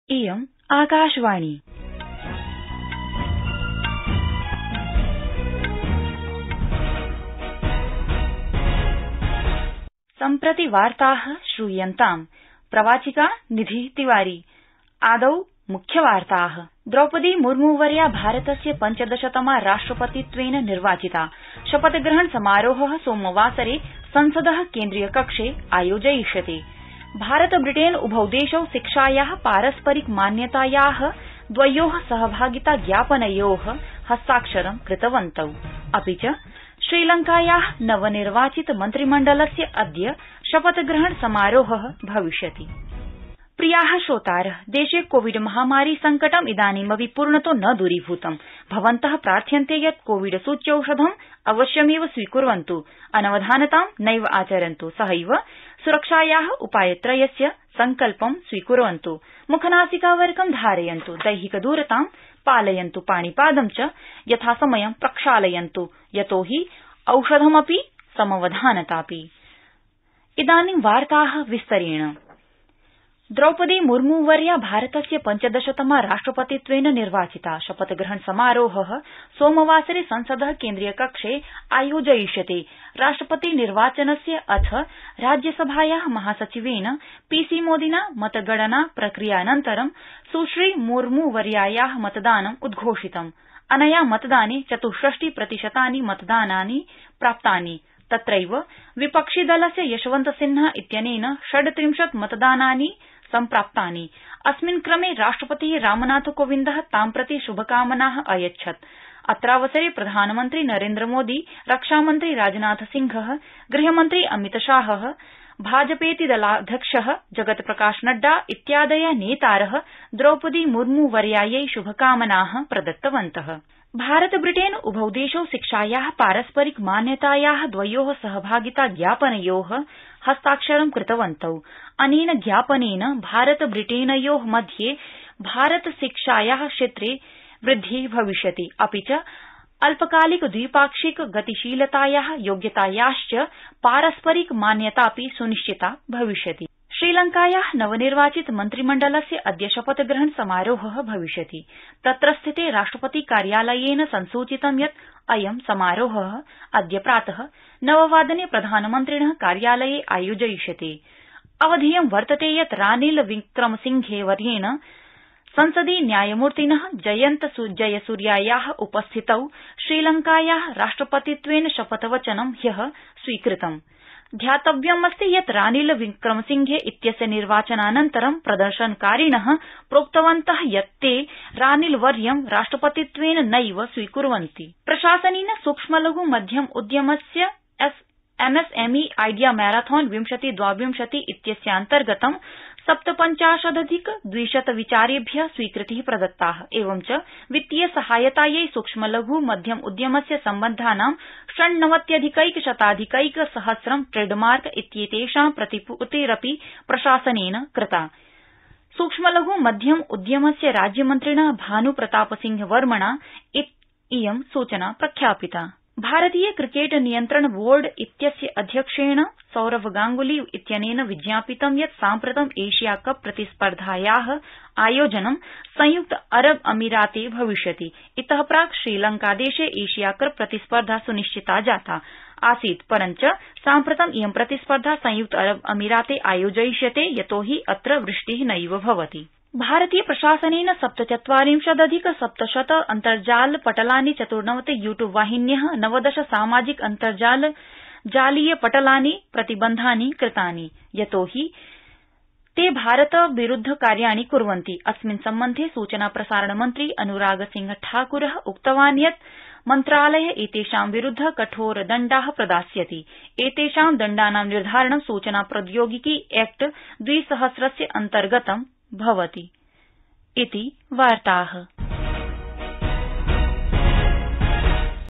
इयम् आकाशवाणी। सम्प्रति वार्ताः श्रूयन्ताम्। प्रवाचिका निधि तिवारी। आदौ मुख्यवार्ताः। द्रौपदी मुर्मुवर्या भारतस्य 15तमा राष्ट्रपतित्वेन निर्वाचिता। शपथग्रहण समारोहः सोमवासरे संसदः केन्द्रीयकक्षे आयोजयिष्यते। भारत ब्रिटेन उभौ देशौ शिक्षायाः पारस्परिक मान्यतायाः द्वयोः सहभागिता ज्ञापनयोः हस्ताक्षरं कृतवन्तौ। अपि च श्रीलंकायाः नवनिर्वाचित मन्त्रिमण्डलस्य अद्य शपथग्रहण समारोहः भविष्यति। प्रियाः श्रोतारः, देशे कोविड महामारी संकटम् इदानीमपि पूर्णतो न दूरीभूतम्। भवन्तः प्रार्थ्यन्ते यत् कोविड सूच्यौषधम् अवश्यमेव स्वीकुर्वन्तु, अनवधानतां नैव आचरन्तु, सहैव सुरक्षायाः उपायत्रयस्य संकल्पं स्वीकुर्वन्तु, मुखनासिकावरकं धारयन्तु, दैहिकदूरतां पालयन्तु, पाणिपादं च यथासमयं प्रक्षालयन्तु, यतोहि औषधमपि समवधानतापि। इदानीं वार्ताः विस्तरेण। द्रौपदी मुर्मुवर्या भारतस्य 15तमा राष्ट्रपतित्वेन निर्वाचिता। शपथग्रहण समारोहः सोमवासरे संसदः केन्द्रीयकक्षे आयोजयिष्यते। राष्ट्रपति निर्वाचनस्य अथ राज्यसभायाः महासचिवेन पीसी मोदिना मतगणना प्रक्रियानन्तरं सुश्री मुर्मुवर्यायाः मतदानम् उद्घोषितम्। अनया मतदाने 64% मतदानानि प्राप्तानि। तत्रैव विपक्षिदलस्य यशवन्तसिन्हा इत्यनेन 36 मतदानानि सम्प्राप्तानि। अस्मिन् क्रमे राष्ट्रपतिः रामनाथकोविन्दः तां प्रति शुभकामनाः अयच्छत्। अत्रावसरे प्रधानमन्त्री नरेन्द्रमोदी, रक्षामन्त्री राजनाथसिंहः, गृहमन्त्री अमितशाहः, भाजपेति दलाध्यक्षः जगत्प्रकाश नड्डा इत्यादयः नेतारः द्रौपदी मुर्मुवर्यायै शुभकामनाः प्रदत्तवन्तः। भारत ब्रिटेन उभौ देशौ शिक्षायाः पारस्परिक मान्यतायाः द्वयोः सहभागिता ज्ञापनयोः हस्ताक्षरं कृतवन्तौ। अनेन ज्ञापनेन भारत ब्रिटेनयोः मध्ये भारत शिक्षायाः क्षेत्रे वृद्धिः भविष्यति, अपि च अल्पकालिक द्विपाक्षिक गतिशीलतायाः योग्यतायाश्च पारस्परिक मान्यतापि सुनिश्चिता भविष्यति। श्रीलंकायाः नवनिर्वाचित मन्त्रिमण्डलस्य अद्य शपथग्रहण समारोहः भविष्यति। तत्रस्थिते राष्ट्रपति कार्यालयेन संसूचितं यत् अयं समारोहः अद्य प्रातः 9:00 प्रधानमन्त्रिणः कार्यालये आयोजयिष्यते। अवधेयं वर्तते यत् रानिल विक्रमसिंघे वर्येण संसदि न्यायमूर्तिनः जयन्त जयसूर्यायाः उपस्थितौ श्रीलंकायाः राष्ट्रपतित्वेन शपथवचनं ह्यः स्वीकृतम्। ध्यातव्यमस्ति यत् रानिल विक्रमसिंघे इत्यस्य निर्वाचनानन्तरं प्रदर्शनकारिणः प्रोक्तवन्तः यत् ते रानिल वर्यं राष्ट्रपतित्वेन नैव स्वीकुर्वन्ति। प्रशासनेन सूक्ष्मलघु मध्यम उद्यमस्य एमएसएमई आइडिया मैराथन 2022 इत्यस्यान्तर्गतं 57,200 विचारेभ्यः स्वीकृतिः प्रदत्ताः। एवञ्च वित्तीय सहायतायै सूक्ष्मलघु मध्यम उद्यमस्य सम्बद्धानां 98,100 ट्रेडमार्क इत्येतेषां प्रतिपूर्तिरपि प्रशासनेन कृता। सूक्ष्मलघु मध्यम उद्यमस्य राज्यमन्त्रिणा भानुप्रतापसिंह वर्मणा इयं सूचना प्रख्यापिता। भारतीय क्रिकेट नियन्त्रण बोर्ड इत्यस्य अध्यक्षेण सौरभ गांगुली इत्यनेन विज्ञापितं यत् साम्प्रतं एशिया कप प्रतिस्पर्धायाः आयोजनं संयुक्त अरब अमीराते भविष्यति। इतः प्राक् श्रीलंकादेशे एशिया कप प्रतिस्पर्धा सुनिश्चिता जाता आसीत्, परञ्च साम्प्रतं इयं प्रतिस्पर्धा संयुक्त अरब अमीराते आयोजयिष्यते, यतोहि अत्र वृष्टिः नैव भवति। भारतीय प्रशासनेन 47,700 अन्तर्जाल पटलानि, 94 यूट्यूब वाहिन्यः, 90 सामाजिक अन्तर्जाल जालीय पटलानि प्रतिबन्धानि कृतानि, यतोहि ते भारत विरुद्ध कार्याणि कुर्वन्ति। अस्मिन् सम्बन्धे सूचना प्रसारण मन्त्री अनुराग सिंह ठाकुरः उक्तवान् यत् मन्त्रालयः एतेषां विरुद्ध कठोर दण्डाः प्रदास्यति। एतेषां दण्डानां निर्धारणं सूचना प्रौद्योगिकी एक्ट 2000 अन्तर्गतं भवति इति वार्ताः।